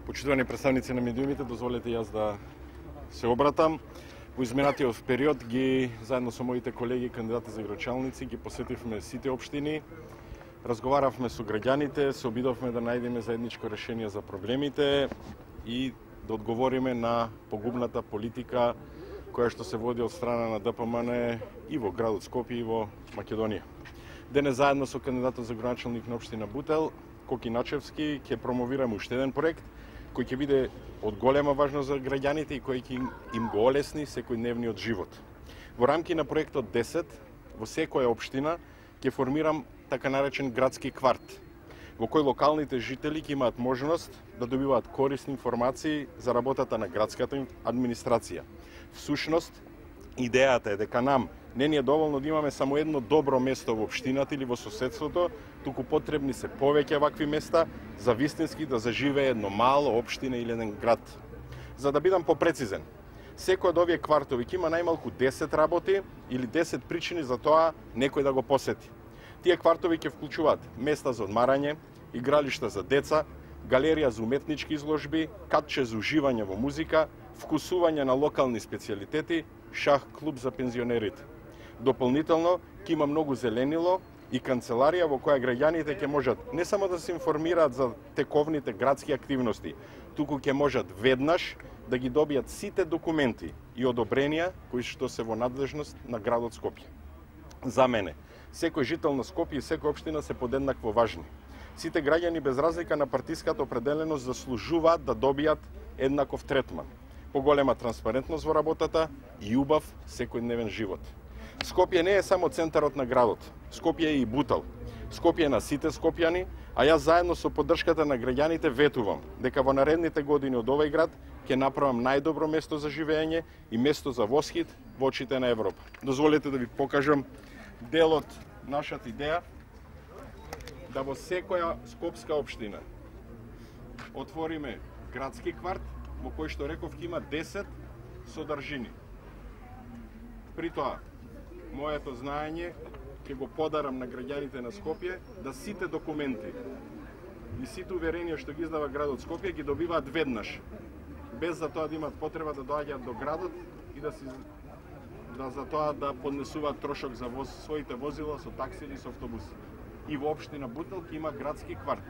Почитувани представници на медиумите, дозволете јас да се обратам. Во изминатиот период ги заедно со моите колеги кандидати за градоначалници ги посетивме сите општини, разговаравме со граѓаните, се обидовме да најдеме заедничко решение за проблемите и да одговориме на погубната политика која што се води од страна на ДПМН и во градот Скопје и во Македонија. Денес заедно со кандидатот за градоначалник на општина Бутел, Коки Начевски, ќе промовираме уште еден проект кој ќе биде од голема важност за граѓаните и кој ќе им го олесни секојдневниот живот. Во рамки на проектот 10, во секоја општина ќе формирам така наречен градски кварт, во кој локалните жители ќе имаат можност да добиваат корисни информации за работата на градската администрација. Всушност, идејата е дека нам не ни е доволно да имаме само едно добро место во општината или во соседството, туку потребни се повеќе вакви места за вистински да заживее едно мало општина или еден град. За да бидам попрецизен, секој од овие квартови ќе има најмалку 10 работи или 10 причини за тоа некој да го посети. Тие квартови ќе вклучуваат места за одмарање, игралишта за деца, галерија за уметнички изложби, катче за уживање во музика, вкусување на локални специјалитети, шах клуб за пензионерите. Дополнително, ќе има многу зеленило и канцеларија во која граѓаните ќе можат не само да се информираат за тековните градски активности, туку ќе можат веднаш да ги добијат сите документи и одобренија кои што се во надлежност на градот Скопје. За мене, секој жител на Скопје и секоја општина се подеднакво важни. Сите граѓани без разлика на партиската определеност заслужуваат да добијат еднаков третман, поголема транспарентност во работата и убав секојдневен живот. Скопје не е само центарот на градот. Скопје е и Бутел. Скопје е на сите скопјани, а јас заедно со поддршката на граѓаните ветувам дека во наредните години од овој град ќе направам најдобро место за живење и место за восхит во очите на Европа. Дозволете да ви покажам дел од нашата идеја да во секоја скопска општина отвориме градски кварт во кој што реков ќе има 10 содржини. При тоа, моето знаење ќе го подарам на граѓаните на Скопје да сите документи и сите уверенија што ги издава градот Скопје ги добиваат веднаш, без за тоа да имаат потреба да доаѓаат до градот и за тоа да поднесуваат трошок за своите возила со такси или со автобус. И во општина Бутел ќе има градски кварт.